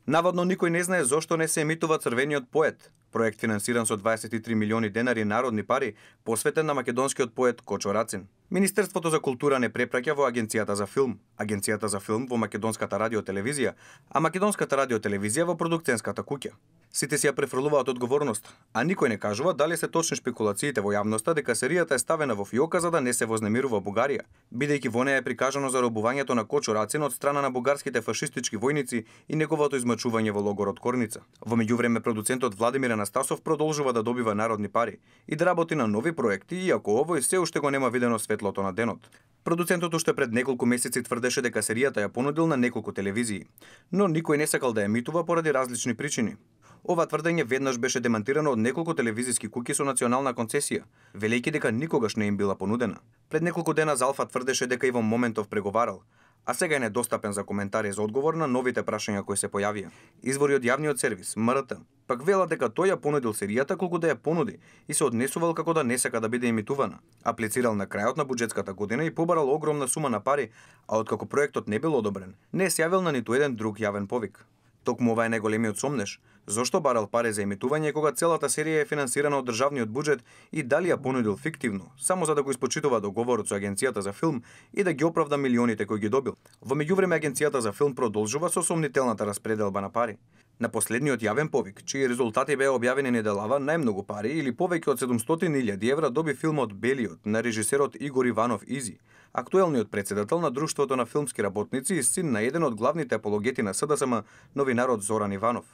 Наводно никој не знае зошто не се емитува Црвениот поет, проект финансиран со 23 милиони денари народни пари, посветен на македонскиот поет Кочо Рацин. Министерството за култура не препраќа во Агенцијата за филм, Агенцијата за филм во Македонската радиотелевизија, а Македонската радиотелевизија во продукценската куќа. Сите си ја префрлуваат одговорност, а никој не кажува дали се точни шпекулациите во јавноста дека серијата е ставена во фиока за да не се вознемирува Бугарија, бидејќи во неја е прикажано заробувањето на Кочо Рацин од страна на бугарските фашистички војници и неговото измачување во логорот Корница. Во меѓувреме продуцентот Владимир Анастасов продолжува да добива народни пари и да работи на нови проекти, иако овој се уште го нема видено светлото на денот. Продуцентот уште пред неколку месеци тврдеше дека серијата ја понудил на неколку телевизии, но никој не сакал да ја емитува поради различни причини. Ова тврдење веднаш беше демантирано од неколку телевизиски куќи со национална концесија, велејќи дека никогаш не им била понудена. Пред неколку дена Залфа тврдеше дека Иво Моментов преговарал, а сега е недостапен за коментари за одговор на новите прашања кои се појавија. Извори од јавниот сервис, МРТ, пак велат дека тој ја понудил серијата колку да ја понуди и се однесувал како да не сака да биде емитувана. Аплицирал на крајот на буџетската година и побарал огромна сума на пари, а откако проектот не бил одобрен, не се јавил на ниту еден друг јавен повик. Токму ова е најголемиот сомнеш. Зошто барал пари за емитување кога целата серија е финансирана од државниот буџет и дали ја понудил фиктивно, само за да го испочитува договорот со Агенцијата за филм и да ги оправда милионите кои ги добил. Во меѓувреме Агенцијата за филм продолжува со сомнителната распределба на пари. На последниот јавен повик, чии резултати беа објавени неделава, најмногу пари или повеќе од 700.000 евра доби филмот Белиот на режисерот Игор Иванов Изи, актуелниот претседател на Друштвото на филмски работници и син на еден од главните апологети на СДСМ, новинарот Зоран Иванов.